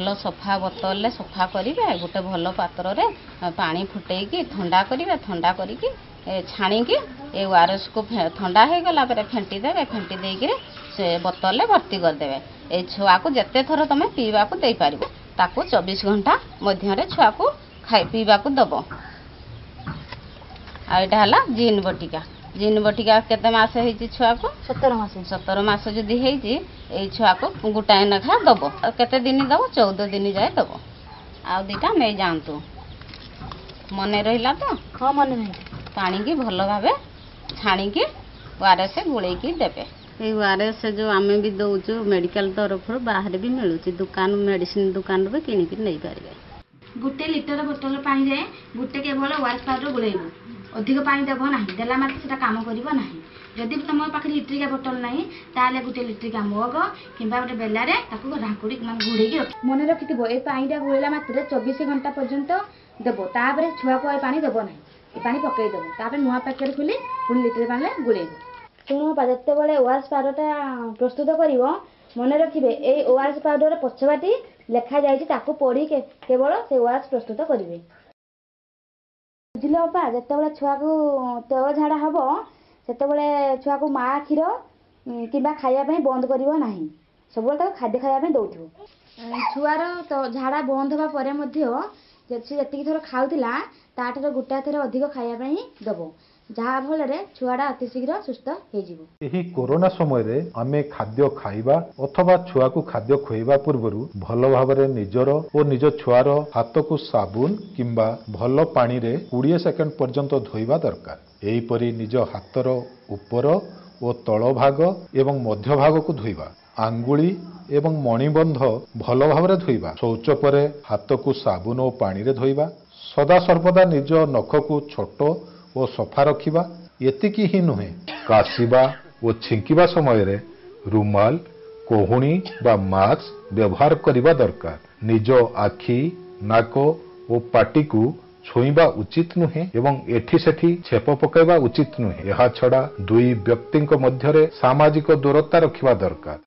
ଭଲ ସଫା ବୋତଲରେ ସଫା କରିବେ। ଗୋଟେ ଭଲ ପାତ୍ରରେ ପାଣି ଫୁଟେଇକି ଥଣ୍ଡା କରିବେ। ଥଣ୍ଡା କରିକି ଛାଣିକି ଏ ଓଆରଏସ୍କୁ ଥଣ୍ଡା ହେଇଗଲା ପରେ ଫେଣ୍ଟି ଦେବେ। ଫେଣ୍ଟି ଦେଇକିରି ସେ ବୋତଲରେ ଭର୍ତ୍ତି କରିଦେବେ। ଏଇ ଛୁଆକୁ ଯେତେ ଥର ତମେ ପିଇବାକୁ ଦେଇପାରିବ, ତାକୁ 24 ଘଣ୍ଟା ମଧ୍ୟରେ ଛୁଆକୁ ଖାଇ ପିଇବାକୁ ଦେବ। ଆଉ ଏଇଟା ହେଲା ଜିନ୍ ବଟିକା। ଜିନ୍ ବଟିକା କେତେ ମାସ ହେଇଛି ଛୁଆକୁ? 17 ମାସ। 17 ମାସ ଯଦି ହେଇଛି, ଏଇ ଛୁଆକୁ ଗୋଟାଏ ଲେଖା ଦେବ। କେତେ ଦିନ ଦେବ? 14 ଦିନ ଯାଏ ଦେବ। ଆଉ ଦୁଇଟା ନେଇଯାଆନ୍ତୁ। ମନେ ରହିଲା ତ? ହଁ, ମନେ ରହିଲା। ପାଣିକି ଭଲ ଭାବେ ଛାଣିକି ଓଆରଏସ୍ ଗୋଳେଇକି ଦେବେ। ଏଇ ଓଆରଏସ୍ ଯେଉଁ ଆମେ ବି ଦେଉଛୁ ମେଡ଼ିକାଲ ତରଫରୁ, ବାହାରେ ବି ମିଳୁଛି, ଦୋକାନ ମେଡ଼ିସିନ ଦୋକାନରୁ ବି କିଣିକି ନେଇପାରିବେ। 1 ଲିଟର ବୋତଲ ପାଣିରେ ଗୋଟେ କେବଳ ଓଆରଏସ୍ ପାଉଡ଼ର ଗୋଳେଇବ, ଅଧିକ ପାଣି ଦେବ ନାହିଁ। ଦେଲା ମାତ୍ରେ ସେଟା କାମ କରିବ ନାହିଁ। ଯଦି ତୁମ ପାଖରେ ଲିଟରିକା ବୋତଲ ନାହିଁ, ତାହେଲେ ଗୋଟେ ଲିଟରିକା ମଗ କିମ୍ବା ଗୋଟେ ବେଲାରେ ତାକୁ ଢାଙ୍କୁଡ଼ି ମାନେ ଘୋଡ଼େଇକି ରଖି ମନେ ରଖିଥିବ, ଏ ପାଣିଟା ଗୋଳେଇଲା ମାତ୍ରେ 24 ଘଣ୍ଟା ପର୍ଯ୍ୟନ୍ତ ଦେବ। ତାପରେ ଛୁଆକୁ ଏ ପାଣି ଦେବ ନାହିଁ, ଏ ପାଣି ପକେଇ ଦେବ। ତାପରେ ନୂଆ ପ୍ୟାକେଟ୍ ଖୋଲି ପୁଣି ଲିଟରେ ପାଣିରେ ଗୋଳେଇବ। ଶୁଣ ବାପା, ଯେତେବେଳେ ଓଆରଏସ୍ ପାଉଡ଼ରଟା ପ୍ରସ୍ତୁତ କରିବ, ମନେ ରଖିବେ ଏଇ ଓଆରଏସ୍ ପାଉଡ଼ର ପଛବାଟି ଲେଖାଯାଇଛି, ତାକୁ ପଢ଼ି କେବଳ ସେ ଓଆରଏସ୍ ପ୍ରସ୍ତୁତ କରିବେ। ବୁଝିଲ ବାପା? ଯେତେବେଳେ ଛୁଆକୁ ତରଳ ଝାଡ଼ା ହେବ, ସେତେବେଳେ ଛୁଆକୁ ମା କ୍ଷୀର କିମ୍ବା ଖାଇବା ପାଇଁ ବନ୍ଦ କରିବ ନାହିଁ। ସବୁବେଳେ ତାକୁ ଖାଦ୍ୟ ଖାଇବା ପାଇଁ ଦେଉଥିବ। ଛୁଆର ଝାଡ଼ା ବନ୍ଦ ହେବା ପରେ ମଧ୍ୟ ସେ ଯେତିକି ଥର ଖାଉଥିଲା, ତାଠାରୁ ଗୋଟାଏ ଥର ଅଧିକ ଖାଇବା ପାଇଁ ଦେବ, ଯାହାଫଳରେ ଛୁଆଟା ଅତି ଶୀଘ୍ର ସୁସ୍ଥ ହେଇଯିବ। ଏହି କରୋନା ସମୟରେ ଆମେ ଖାଦ୍ୟ ଖାଇବା ଅଥବା ଛୁଆକୁ ଖାଦ୍ୟ ଖୁଆଇବା ପୂର୍ବରୁ ଭଲ ଭାବରେ ନିଜର ଓ ନିଜ ଛୁଆର ହାତକୁ ସାବୁନ କିମ୍ବା ଭଲ ପାଣିରେ 20 ସେକେଣ୍ଡ ପର୍ଯ୍ୟନ୍ତ ଧୋଇବା ଦରକାର। ଏହିପରି ନିଜ ହାତର ଉପର ଓ ତଳ ଭାଗ ଏବଂ ମଧ୍ୟଭାଗକୁ ଧୋଇବା, ଆଙ୍ଗୁଳି ଏବଂ ମଣିବନ୍ଧ ଭଲ ଭାବରେ ଧୋଇବା, ଶୌଚ ପରେ ହାତକୁ ସାବୁନ ଓ ପାଣିରେ ଧୋଇବା, ସଦାସର୍ବଦା ନିଜ ନଖକୁ ଛୋଟ ଓ ସଫା ରଖିବା। ଏତିକି ହିଁ ନୁହେଁ, କାଶିବା ଓ ଛିଙ୍କିବା ସମୟରେ ରୁମାଲ, କହୁଣୀ ବା ମାସ୍କ ବ୍ୟବହାର କରିବା ଦରକାର। ନିଜ ଆଖି, ନାକ ଓ ପାଟିକୁ ଛୁଇଁବା ଉଚିତ ନୁହେଁ ଏବଂ ଏଠି ସେଠି ଛେପ ପକାଇବା ଉଚିତ ନୁହେଁ। ଏହାଛଡ଼ା ଦୁଇ ବ୍ୟକ୍ତିଙ୍କ ମଧ୍ୟରେ ସାମାଜିକ ଦୂରତା ରଖିବା ଦରକାର।